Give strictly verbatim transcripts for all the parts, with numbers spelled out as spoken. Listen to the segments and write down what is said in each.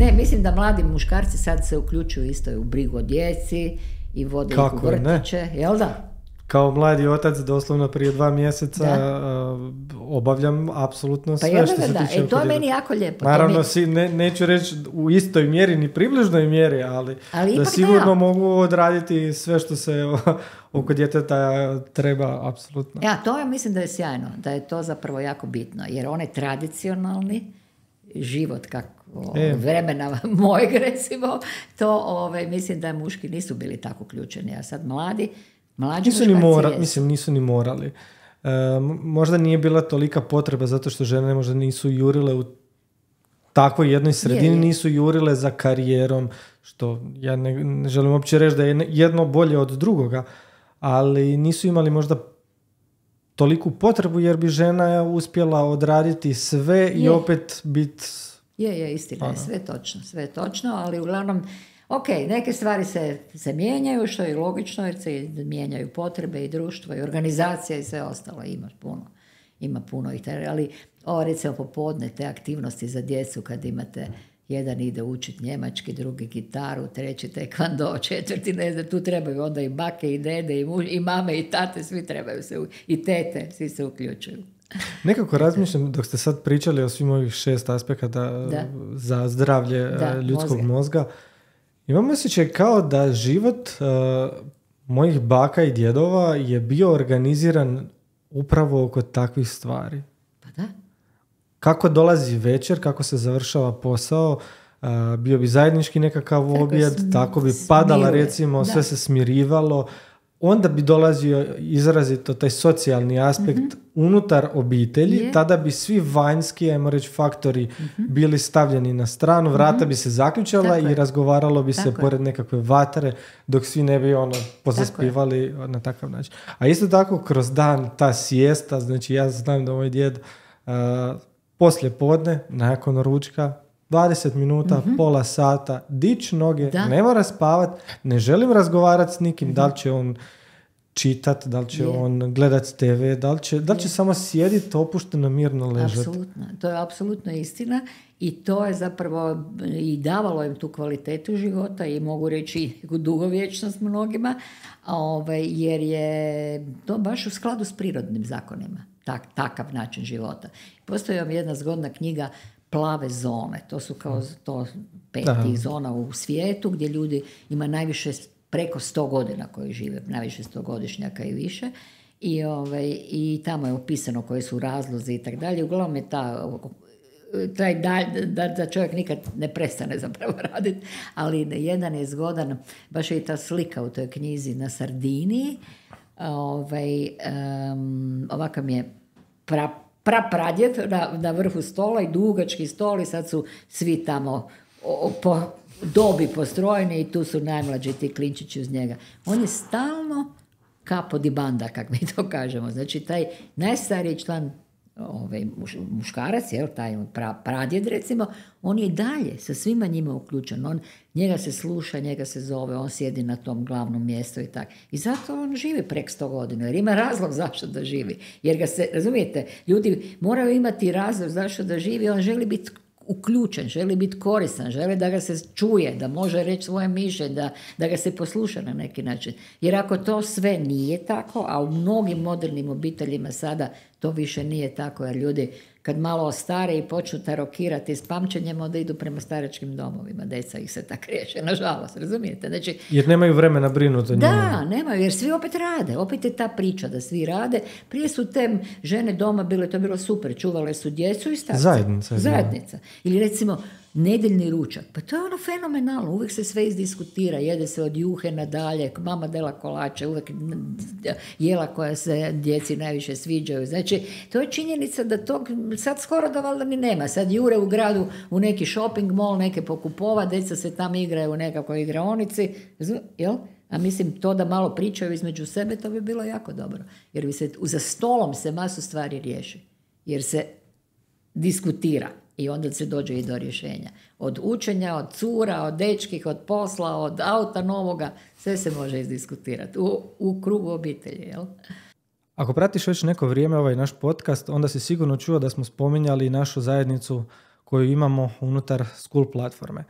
Ne, mislim da mladi muškarci sad se uključuju isto u brigu o djeci i vode ih u vrtiće, jel da? Kao mladi otac, doslovno prije dva mjeseca uh, obavljam apsolutno sve pa što se da, tiče. E, to je meni jako lijepo. Naravno, mi... si, ne, neću reći u istoj mjeri, ni približnoj mjeri, ali, ali da sigurno da. mogu odraditi sve što se oko djeteta treba, apsolutno. Ja, to ja mislim da je sjajno, da je to zapravo jako bitno, jer onaj tradicionalni život kako e. vremena mojeg recimo, to ove, mislim da muški nisu bili tako uključeni, a sad mladi Mlađi nisu ni mora, mislim, nisu ni morali. E, možda nije bila tolika potreba zato što žene možda nisu jurile u takvoj jednoj sredini, je, je. nisu jurile za karijerom, što ja ne, ne želim uopće reći da je jedno bolje od drugoga, ali nisu imali možda toliku potrebu jer bi žena uspjela odraditi sve je. i opet biti... Je, je, istina je, sve točno, sve točno, ali uglavnom ok, neke stvari se, se mijenjaju, što je logično, jer se mijenjaju potrebe i društvo i organizacija i sve ostalo. Ima puno, ima puno ih. Ali ovo recimo popodne, te aktivnosti za djecu kad imate jedan ide učiti njemački, drugi gitaru, treći tekvando, četvrti ne znam, tu trebaju onda i bake i dede i, muž, i mame i tate, svi trebaju se, i tete, svi se uključuju. Nekako razmišljam, dok ste sad pričali o svim ovih šest aspekata da. za zdravlje da, ljudskog mozga, mozga imam osjećaj kao da život uh, mojih baka i djedova je bio organiziran upravo oko takvih stvari. Pa da. Kako dolazi večer, kako se završava posao, uh, bio bi zajednički nekakav tako objed, sm- tako bi padala smiruje. recimo, da. sve se smirivalo. Onda bi dolazio izrazito taj socijalni aspekt mm-hmm. unutar obitelji, yeah. tada bi svi vanjski, ajmo reći, faktori mm-hmm. bili stavljeni na stranu, vrata mm-hmm. bi se zaključala tako i je. razgovaralo bi Tako se je. pored nekakve vatre, dok svi ne bi ono pozaspivali tako na takav način. A isto tako kroz dan ta siesta, znači ja znam da moj djed uh, poslije podne, nakon ručka, dvadeset minuta, mm-hmm. pola sata, dić noge, da. ne mora spavat, ne želim razgovarati s nikim, mm-hmm. da li će on čitat, da li će je. on gledat te ve, da li će, da li će samo sjediti opušteno, mirno ležati. Apsolutno, to je apsolutno istina i to je zapravo i davalo im tu kvalitetu života i mogu reći dugovječnost mnogima, ovaj, jer je to baš u skladu s prirodnim zakonima, tak, takav način života. Postoji vam jedna zgodna knjiga Plave zone, to su kao to pet tih zona u svijetu gdje ljudi ima najviše preko sto godina koji žive, najviše stogodišnjaka i više i, ovaj, i tamo je opisano koji su razlozi i tako dalje. Uglavnom je ta, taj dalj, da, da čovjek nikad ne prestane zapravo raditi, ali jedan je zgodan, baš je i ta slika u toj knjizi na Sardiniji, ovaj, um, ovakav mi je pra prapradjed na, na vrhu stola i dugački stol i sad su svi tamo o, po dobi postrojeni i tu su najmlađi ti klinčići uz njega. On je stalno capo di banda, kako mi to kažemo. Znači taj najstariji član, ovaj, muš, muškarac, jel, taj pra, pradjed recimo, on je dalje sa svima njima uključen. On, njega se sluša, njega se zove, on sjedi na tom glavnom mjestu i tako. I zato on živi prek sto godina, jer ima razlog zašto da živi. Jer ga se, razumijete, ljudi moraju imati razlog zašto da živi, on želi biti uključen, želi biti koristan, želi da ga se čuje, da može reći svoje mišljenje, da, da ga se posluša na neki način. Jer ako to sve nije tako, a u mnogim modernim obiteljima sada to više nije tako, jer ljudi kad malo ostare i počnu tarokirati s pamćenjem, onda idu prema staračkim domovima. Deca ih se tak riješe, nažalost, razumijete? Znači, jer nemaju vremena brinuti o njima. Da, nemaju, jer svi opet rade. Opet je ta priča da svi rade. Prije su te žene doma bile, to je bilo super, čuvale su djecu i starce. Zajednica. Zajednica. Ili recimo, nedjeljni ručak. Pa to je ono fenomenalno. Uvijek se sve izdiskutira. Jede se od juhe nadalje. Mama dela kolače. Uvijek jela koja se djeci najviše sviđaju. Znači, to je činjenica da tog sad skoro da valjda ni nema. Sad jure u gradu u neki shopping mall, neke pokupova, djeca se tam igraju u nekakvoj igraonici. Jel? A mislim, to da malo pričaju između sebe, to bi bilo jako dobro. Jer bi se, za stolom se masu stvari riješi. Jer se diskutira. I onda se dođe i do rješenja. Od učenja, od cura, od dečkih, od posla, od auta novoga, sve se može izdiskutirati u, u krugu obitelji. Jel? Ako pratiš već neko vrijeme ovaj naš podcast, onda si sigurno čuo da smo spominjali našu zajednicu koju imamo unutar School platforme.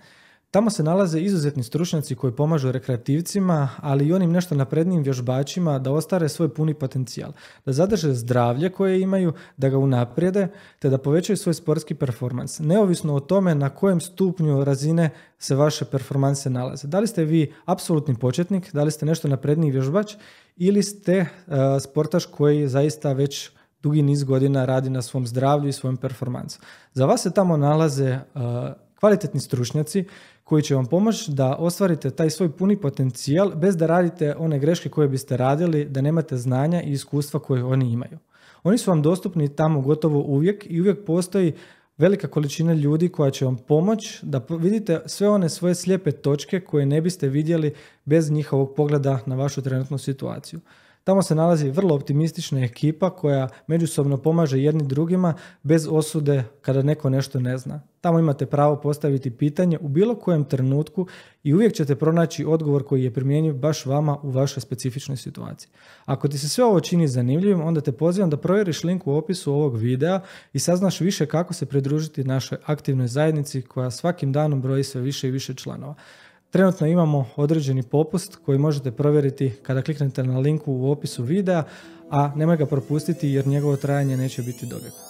Tamo se nalaze izuzetni stručnjaci koji pomažu rekreativcima, ali i onim nešto naprednijim vježbačima da ostvare svoj puni potencijal, da zadrže zdravlje koje imaju, da ga unaprijede, te da povećaju svoj sportski performans, neovisno o tome na kojem stupnju razine se vaše performanse nalaze. Da li ste vi apsolutni početnik, da li ste nešto napredniji vježbač ili ste uh, sportaš koji zaista već dugi niz godina radi na svom zdravlju i svojem performansu. Za vas se tamo nalaze uh, kvalitetni stručnjaci koji će vam pomoći da ostvarite taj svoj puni potencijal bez da radite one greške koje biste radili, da nemate znanja i iskustva koje oni imaju. Oni su vam dostupni tamo gotovo uvijek i uvijek postoji velika količina ljudi koja će vam pomoći da vidite sve one svoje slijepe točke koje ne biste vidjeli bez njihovog pogleda na vašu trenutnu situaciju. Tamo se nalazi vrlo optimistična ekipa koja međusobno pomaže jedni drugima bez osude kada neko nešto ne zna. Tamo imate pravo postaviti pitanje u bilo kojem trenutku i uvijek ćete pronaći odgovor koji je primjenjiv baš vama u vašoj specifičnoj situaciji. Ako ti se sve ovo čini zanimljivim, onda te pozivam da provjeriš link u opisu ovog videa i saznaš više kako se pridružiti našoj aktivnoj zajednici koja svakim danom broji sve više i više članova. Trenutno imamo određeni popust koji možete provjeriti kada kliknete na linku u opisu videa, a nemoj ga propustiti jer njegovo trajanje neće biti dovijeka.